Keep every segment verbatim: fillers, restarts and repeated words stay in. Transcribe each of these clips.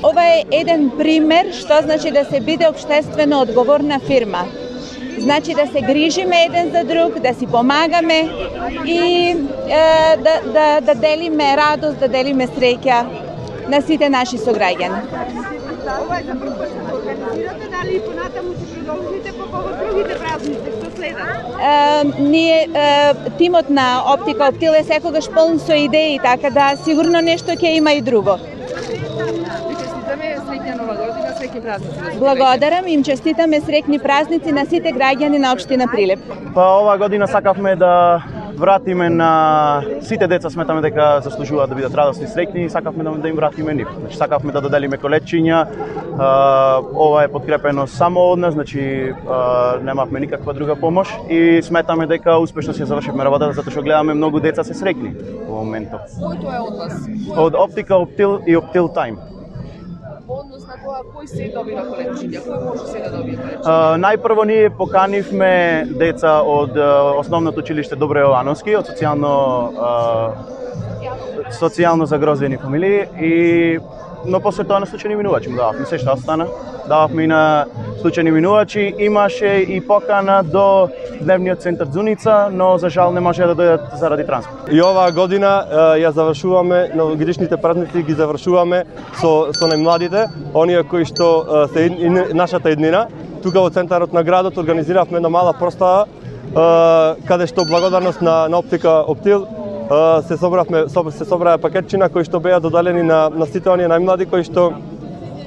Ова е еден пример што значи да се биде општествено одговорна фирма. Значи да се грижиме еден за друг, да си помагаме и е, да, да, да делиме радост, да делиме среќа на сите наши сограѓани. Ова е за прв пат што организирате, дали и понатаму ќе продолжите по повод другите празници што следат? Ние е, тимот на Оптика Оптил е секогаш полн со идеи, така да сигурно нешто ќе има и друго. Среќна нова година, среќни празници. Благодарам, им честитаме среќни празници на сите граѓани на општина Прилеп. Па оваа година сакавме да вратиме на сите деца, сметаме дека заслужуваат да бидат радосни и среќни и сакавме да, да им вратиме нив. Значи сакавме да доделиме колечиња. Ова е подкрепено само од нас, значи немавме никаква друга помош и сметаме дека успешно се завршивме работата затоа што гледаме многу деца се среќни во моментот. Кој тоа е од вас? Од Оптика Оптил и Оптил Тайм. Однос на тоа кој се добива колечиња, кој може се да добие колечиња? Uh, најпрво ние поканивме деца од uh, основното училиште Добро Јовановски, од социјално uh, социјално загрозени фамилии и но после тоа на случајни минувачи му дававме се што остана. Дававме и на случајни минувачи, имаше и покана до дневниот центар Зуница, но за жал не може да дојдат заради транспорт. И оваа година ја завршуваме, новогодишните празници ги завршуваме со со најмладите, оние кои што се нашата еднина. Тука во центарот на градот организиравме една мала простава каде што благодарност на, на Оптика Оптил се собравме се собраа пакетчина кои што беа додалени на на сите оние најмлади кои што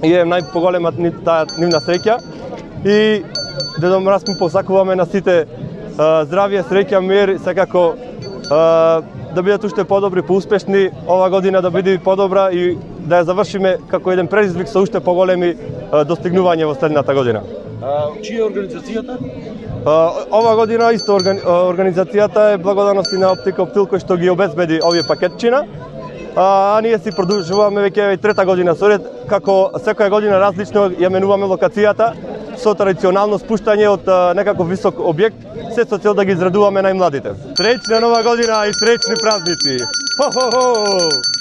е најпоголема таа нивна среќа и Дедо Мраз му посакуваме на сите здравје, среќа, мир, секако да бидат уште подобри, поуспешни, ова година да биде подобра и да ја завршиме како еден предизвик со уште поголеми достигнувања во следната година. А, чија е организацијата? Ова година исто организацијата е благодарности на Оптика Оптил кој што ги обезбеди овие пакетчина. А, а ние си продолжуваме веќе трета година соред, како секоја година различно ја менуваме локацијата со традиционално спуштање од а, некаков висок објект, се со цел да ги израдуваме најмладите. Среќна нова година и среќни празници! Хо-хо-хо!